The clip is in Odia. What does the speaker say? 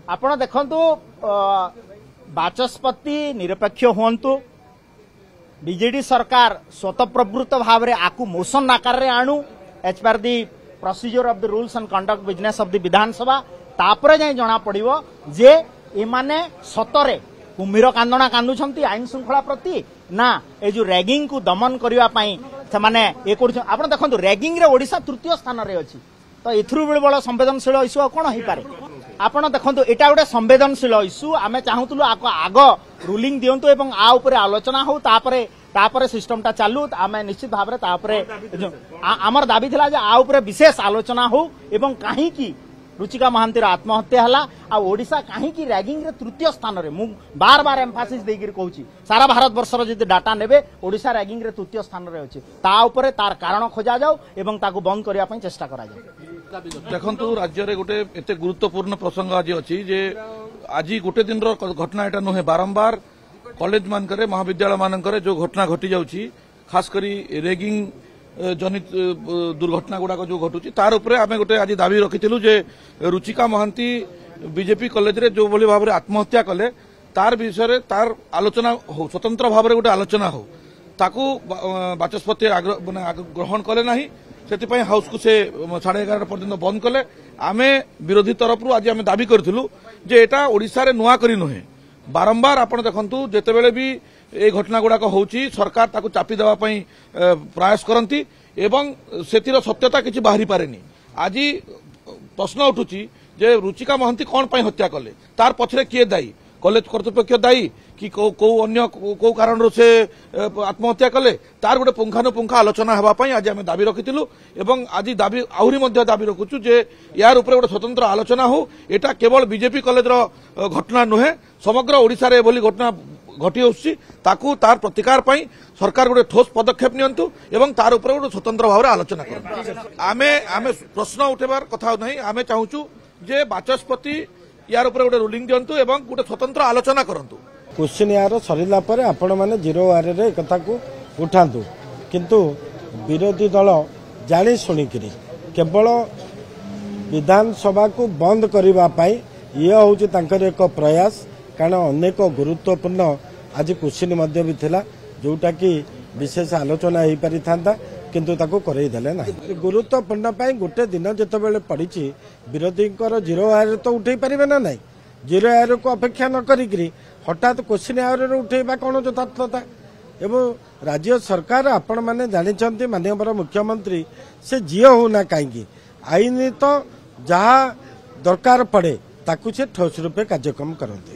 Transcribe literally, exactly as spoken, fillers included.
ଆପଣ ଦେଖନ୍ତୁ, ବାଚସ୍ପତି ନିରପେକ୍ଷ ହୁଅନ୍ତୁ, ବିଜେଡି ସରକାର ସ୍ୱତଃପ୍ରବୃତ୍ତ ଭାବରେ ଆକୁ ମୋସନ ଆକାରରେ ଆଣୁ as per the procedure of the rules and conduct business of the ବିଧାନସଭା। ତାପରେ ଯାଇ ଜଣା ପଡ଼ିବ ଯେ ଏମାନେ ସତରେ କୁମ୍ଭୀର କାନ୍ଦଣା କାନ୍ଦୁଛନ୍ତି ଆଇନ ଶୃଙ୍ଖଳା ପ୍ରତି ନା ଏ ଯୋଉ ରାଗିଂକୁ ଦମନ କରିବା ପାଇଁ ସେମାନେ ଏ କରୁଛନ୍ତି। ଆପଣ ଦେଖନ୍ତୁ, ରାଗିଂରେ ଓଡ଼ିଶା ତୃତୀୟ ସ୍ଥାନରେ ଅଛି, ତ ଏଥିରୁ ବି ବଡ଼ ସମ୍ବେଦନଶୀଳ ଇସ୍ୟୁ ଆଉ କ'ଣ ହେଇପାରେ? ଆପଣ ଦେଖନ୍ତୁ, ଏଇଟା ଗୋଟେ ସମ୍ବେଦନଶୀଳ ଇସ୍ୟୁ। ଆମେ ଚାହୁଁଥିଲୁ ଆଗ ଆଗ ରୁଲିଂ ଦିଅନ୍ତୁ ଏବଂ ଆ ଉପରେ ଆଲୋଚନା ହଉ, ତାପରେ ତାପରେ ସିଷ୍ଟମଟା ଚାଲୁ। ଆମେ ନିଶ୍ଚିତ ଭାବରେ ତାପରେ ଆମର ଦାବି ଥିଲା ଯେ ଆ ଉପରେ ବିଶେଷ ଆଲୋଚନା ହଉ ଏବଂ କାହିଁକି ରୁଚିକା ମହାନ୍ତିର ଆତ୍ମହତ୍ୟା ହେଲା ଆଉ ଓଡ଼ିଶା କାହିଁକି ରାଗିଂରେ ତୃତୀୟ ସ୍ଥାନରେ। ମୁଁ ବାର ବାର ଏମ୍ଫାସିସ୍ ଦେଇକିରି କହୁଛି, ସାରା ଭାରତବର୍ଷର ଯଦି ଡାଟା ନେବେ, ଓଡ଼ିଶା ରାଗିଂରେ ତୃତୀୟ ସ୍ଥାନରେ ଅଛି। ତା ଉପରେ ତାର କାରଣ ଖୋଜାଯାଉ ଏବଂ ତାକୁ ବନ୍ଦ କରିବା ପାଇଁ ଚେଷ୍ଟା କରାଯାଉ। ଦେଖନ୍ତୁ, ରାଜ୍ୟରେ ଗୋଟେ ଏତେ ଗୁରୁତ୍ୱପୂର୍ଣ୍ଣ ପ୍ରସଙ୍ଗ ଆଜି ଅଛି ଯେ ଆଜି ଗୋଟେ ଦିନର ଘଟଣା ଏଟା ନୁହେଁ। ବାରମ୍ବାର କଲେଜ ମାନଙ୍କରେ, ମହାବିଦ୍ୟାଳୟ ମାନଙ୍କରେ ଯୋଉ ଘଟଣା ଘଟି ଯାଉଛି, ଖାସ କରି ରେଗିଂ ଜନିତ ଦୁର୍ଘଟଣା ଗୁଡାକ ଯୋଉ ଘଟୁଛି, ତାର ଉପରେ ଆମେ ଗୋଟେ ଆଜି ଦାବି ରଖିଥିଲୁ ଯେ ରୁଚିକା ମହାନ୍ତି ବିଜେପି କଲେଜରେ ଯୋଉଭଳି ଭାବରେ ଆତ୍ମହତ୍ୟା କଲେ, ତାର ବିଷୟରେ ତାର ଆଲୋଚନା ହଉ, ସ୍ୱତନ୍ତ୍ର ଭାବରେ ଗୋଟେ ଆଲୋଚନା ହଉ। ତାକୁ ବାଚସ୍ପତି ମାନେ ଗ୍ରହଣ କଲେ ନାହିଁ, ସେଥିପାଇଁ ହାଉସକୁ ସେ ସାଢେ ଏଗାରଟା ପର୍ଯ୍ୟନ୍ତ ବନ୍ଦ କଲେ। ଆମେ ବିରୋଧୀ ତରଫରୁ ଆଜି ଆମେ ଦାବି କରିଥିଲୁ ଯେ ଏଟା ଓଡ଼ିଶାରେ ନୂଆ କରି ନୁହେଁ, ବାରମ୍ବାର ଆପଣ ଦେଖନ୍ତୁ, ଯେତେବେଳେ ବି এই ଘଟଣା ଗୁଡାକ ହେଉଛି, ସରକାର ତାକୁ ଚାପି ଦେବା ପାଇଁ ପ୍ରୟାସ କରନ୍ତି ଏବଂ ସେଥିର ସତ୍ୟତା କିଛି ବାହାରି ପାରେନି। ଆଜି ପ୍ରଶ୍ନ ଉଠୁଛି ଯେ ରୁଚିକା ମହାନ୍ତି କ'ଣ ପାଇଁ ହତ୍ୟା କଲେ, ତାର ପଛରେ କିଏ ଦାୟୀ? କଲେଜ କର୍ତ୍ତୃପକ୍ଷ ଦାୟୀ କି କୋଉ ଅନ୍ୟ କୋଉ କାରଣରୁ ସେ ଆତ୍ମହତ୍ୟା କଲେ? ତାର ଗୋଟେ ପୁଙ୍ଖାନୁପୁଙ୍ଖ ଆଲୋଚନା ହେବା ପାଇଁ ଆଜି ଆମେ ଦାବି ରଖିଥିଲୁ ଏବଂ ଆଜି ଦାବି ଆହୁରି ମଧ୍ୟ ଦାବି ରଖୁଛୁ ଯେ ୟାର ଉପରେ ଗୋଟେ ସ୍ୱତନ୍ତ୍ର ଆଲୋଚନା ହଉ। ଏଟା କେବଳ ବିଜେପି କଲେଜର ଘଟଣା ନୁହେଁ, ସମଗ୍ର ଓଡ଼ିଶାରେ ଏଭଳି ଘଟଣା ଘଟି ଆସୁଛି। ତାକୁ ତାର ପ୍ରତିକାର ପାଇଁ ସରକାର ଗୋଟେ ଠୋସ୍ ପଦକ୍ଷେପ ନିଅନ୍ତୁ ଏବଂ ତାର ଉପରେ ଗୋଟେ ସ୍ୱତନ୍ତ୍ର ଭାବରେ ଆଲୋଚନା କରନ୍ତୁ। ଆମେ ଆମେ ପ୍ରଶ୍ନ ଉଠେଇବାର କଥା ନାହିଁ, ଆମେ ଚାହୁଁଛୁ ଯେ ବାଚସ୍ପତି ୟାର ଉପରେ ଗୋଟେ ରୁଲିଂ ଦିଅନ୍ତୁ ଏବଂ ଗୋଟେ ସ୍ୱତନ୍ତ୍ର ଆଲୋଚନା କରନ୍ତୁ। କୋଶ୍ଚିନ୍ ଆୱାର ସରିଲା ପରେ ଆପଣମାନେ ଜିରୋ ଆୱାରରେ ଏ କଥାକୁ ଉଠାନ୍ତୁ, କିନ୍ତୁ ବିରୋଧୀ ଦଳ ଜାଣି ଶୁଣିକିରି କେବଳ ବିଧାନସଭାକୁ ବନ୍ଦ କରିବା ପାଇଁ ଇଏ ହେଉଛି ତାଙ୍କର ଏକ ପ୍ରୟାସ। କାରଣ ଅନେକ ଗୁରୁତ୍ୱପୂର୍ଣ୍ଣ ଆଜି କୋଶ୍ଚିନ୍ ମଧ୍ୟ ବି ଥିଲା, ଯୋଉଟାକି ବିଶେଷ ଆଲୋଚନା ହେଇପାରିଥାନ୍ତା, କିନ୍ତୁ ତାକୁ କରେଇ ଦେଲେ ନାହିଁ। ଗୁରୁତ୍ୱପୂର୍ଣ୍ଣ ପାଇଁ ଗୋଟେ ଦିନ ଯେତେବେଳେ ପଡ଼ିଛି, ବିରୋଧୀଙ୍କର ଜିରୋ ଆୱାରରେ ତ ଉଠେଇ ପାରିବେ ନା ନାହିଁ? ଜିରୋ ଆୱାରକୁ ଅପେକ୍ଷା ନ କରିକିରି ହଠାତ୍ କୋଶ୍ଚିନ୍ ଆୱାରରେ ଉଠେଇବା କ'ଣ ଯଥାର୍ଥତା? ଏବଂ ରାଜ୍ୟ ସରକାର, ଆପଣମାନେ ଜାଣିଛନ୍ତି, ମାନ୍ୟବର ମୁଖ୍ୟମନ୍ତ୍ରୀ ସେ ଯିଏ ହଉନା କାହିଁକି, ଆଇନ ତ ଯାହା ଦରକାର ପଡ଼େ ତାକୁ ସେ ଠୋସ୍ ରୂପେ କାର୍ଯ୍ୟକ୍ରମ କରନ୍ତି।